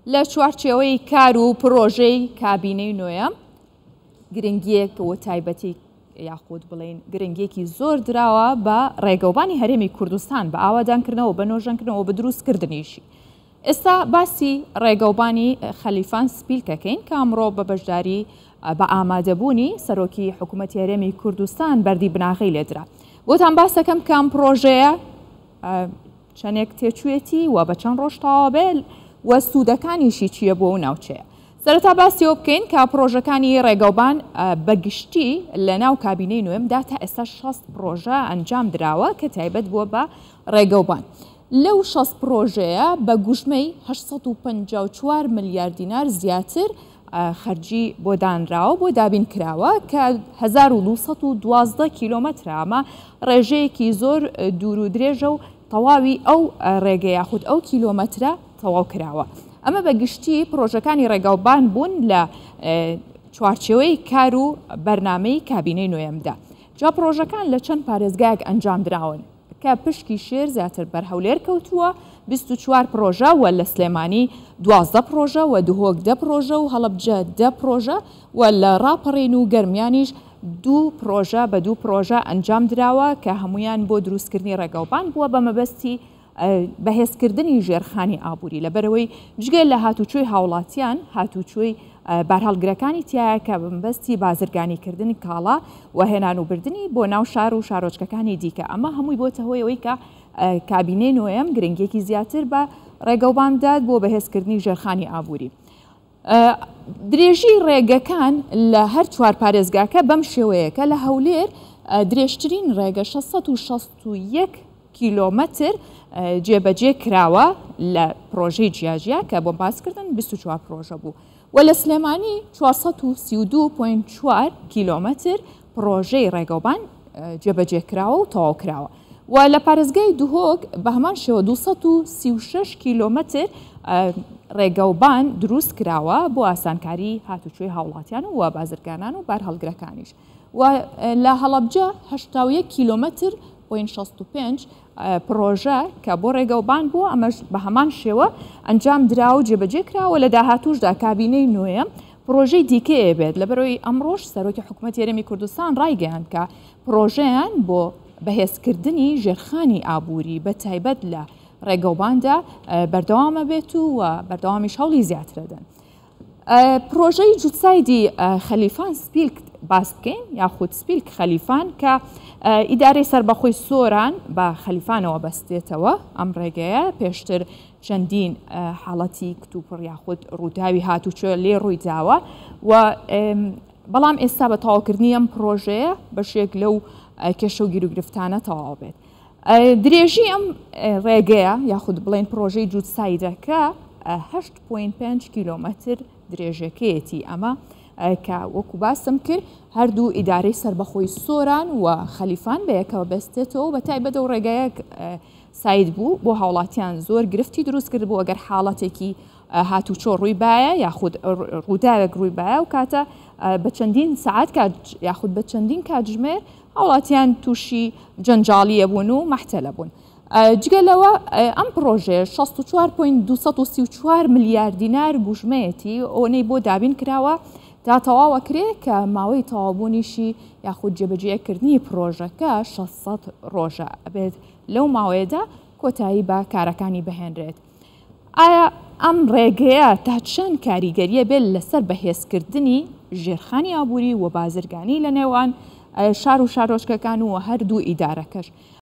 لە چوارچێوەی کار و پڕۆژەی کابینەی نۆیەم گرنگیەک و تایبەتی یاخود بڵین گرنگیەکی زۆر دراوە بە ڕێگەوبانی هەرێمی کوردستان بە ئاوادانکردنەوە بە نۆژەنکردنەوە بە دروستکردنیشی. ئێستا باسی ڕێگەوبانی خەلیفان سپیلکەکەین کە ئەمڕۆ بە بەشداری بە ئامادەبوونی سەرۆکی حکوومەتی هەرێمی کوردستان بەردی بناغەی لێدرا. بۆتان باسەکەم کە ئەم پڕۆژەیە چەندێک تێچوویەتی و بە چەند ڕۆژ تەواو بێت و سوودەکانیشی چییە بۆ ئەو ناوچەیە. سەرەتا باسی ئەوە بکەین کە پڕۆژەکانی ڕێگەوبان بە گشتی لە ناو کابینەی نوێمدا تا ئێستا 60 پڕۆژە ئەنجام دراوە کە تایبەت بووە بە ڕێگەوبان. لەو 60 پڕۆژەیە بە گوژمەی 854 ملیار دینار زیاتر خەرجی بۆ دانراوە بۆ دابین کراوە کە 1212 کیلۆمەترە، ئەمە ڕێژەیەکی زۆر دوور و درێژە و تەواوی ئەو ڕێگە یاخود ئەو کیلۆمەترە تەواو کراوە. ئەمە بە گشتی پڕۆژەکانی ڕێگاوبان بوون لە چوارچێوەی کار و بەرنامەی کابینەی نۆیەمدا. جا پڕۆژەکان لە چەند پارێزگایەک ئەنجام دراون کە پشکی شێر زیاتر بەر هەولێر کەوتووە 24 پڕۆژە و لە سلێمانی 12 پڕۆژە و دهۆک 10 پڕۆژە و هەڵەبجە 10 پڕۆژە و لە ڕاپەڕین و گەرمیانیش دوو پڕۆژە بە دوو پڕۆژە ئەنجام دراوە کە هەمویان بۆ دروستکردنی ڕێگەوبان بووە بە مەبەستی بەهێزکردنی ژێرخانی ئابووری لەبەرئەوەی جگە لە هاتوچۆی هاوڵاتیان هاتوچۆی بارهەڵگرەکانی تایە کە بەمەبەستی بازرگانیکردن کاڵا و هێنان و بردنی بۆ ناو شار و شارۆچکەکانی دیکە ئەمە هەمووی بۆتە هۆی ئەوەی کە کابینەی نۆیەم گرنگیەکی زیاتر بە ڕێگەوبان بدات بۆ بەهێزکردنی ژێرخانی ئابووری. درێژی ڕێگەکان لە هەر چوار پارێزگاکە بەم شێوەیە کە لە هەولێر درێژترین ڕێگە 661 کیلۆمەتر جێبەجێ کراوە لە پرۆژەی جیاجیا کە بۆم باسکردن 24 پرۆژە بوو و لە سلێمانی 432.4 کیلۆمەتر پڕۆژەی ڕێگەوبان جێبەجێ کراوە و تەواو کراوە و لە پارێزگای دهۆک بە هەمان شێوە 236 کیلۆمەتر ڕێگەوبان دروست کراوە بۆ ئاسانکاری هاتوچۆی هاوڵاتیان و بازرگانان و بارهەڵگرەکانیش و لە هەڵەبجە 81 کیلۆمەتر پۆین 65 پڕۆژە کە بۆ ڕێگەوبان بووە ئەمەش بە هەمان شێوە ئەنجام درا و جێبەجێ کراوە لە داهاتووشدا کابینەی نوێ پڕۆژەی دیکەیە بێت لەبەرەوەی ئەمڕۆش سەرۆکی حکوومەتی هەرێمی کوردستان ڕایگەیاند کە پڕۆژەیان بۆ بەهێزکردنی ژێرخانی ئابووری بە تایبەت لە ڕێگەوباندا بەردەوامە بێت و بەردەوامیش هەوڵی زیاترەدەن. پرۆژەی جوتسایدی خەلیفان سپیلک باس بکەین یاخود سپیلک خەلیفان کە ئیدارەی سەربەخۆی سۆران بە خەلیفانەوە بەستێتەوە ئەم ڕێگەیە پێشتر چەندین حاڵەتی کتوپڕ یاخود ڕووداوی هاتوچۆ لێ ڕووی داوە و بەڵام ئێستا بە تەواوکردنی ئەم پرۆژەیە بەشێک لەو کێشە و گیروگرفتانە تەواو بێت. درێژی ئەم ڕێگەیە یاخود بڵێن پرۆژەی جووتسایدەکە 8.5 کیلۆمەتر درێژەکەیەتی ئەمە کە وەکو باسم کرد هەردوو ئیدارەی سەربەخۆی سۆران و خەلیفان بەیەکەوە بەستێتەوە بە تایبەت ئەو ڕێگایەک ساید بوو بۆ هاوڵاتیان زۆر گرفتی دروست کرد بوو ئەگەر حاڵەتێکی هاتوچۆ ڕووی بایە یاخود ڕووداوێک ڕووی بایە و کاتە بە چەندین سعات کات یاخود بە چەندین کاتژمێر هاوڵاتیان تووشی جەنجاڵیە بوون و مەحتەلە بوون. جگە لەوە ئەم پڕۆژەیە 64.234 ملیار دینار گوژمەیەتی ئەوەی بۆ دابین کراوە تا تەواو ئەکرێ کە ماوەی تەواوبوونیشی یاخود جێبەجێکردنی پڕۆژەکە 600 ڕۆژە ئەبێت لەو ماوەیەدا کۆتایی بە کارەکانی بهێنرێت. ئایا ئەم ڕێگەیە تا چەند کاریگەریە بێت لەسەر بەهێزکردنی ژێرخانی ئابووری و بازرگانی لە نێوان شار و شارۆچکەکان و هەردوو ئیدارەکەش؟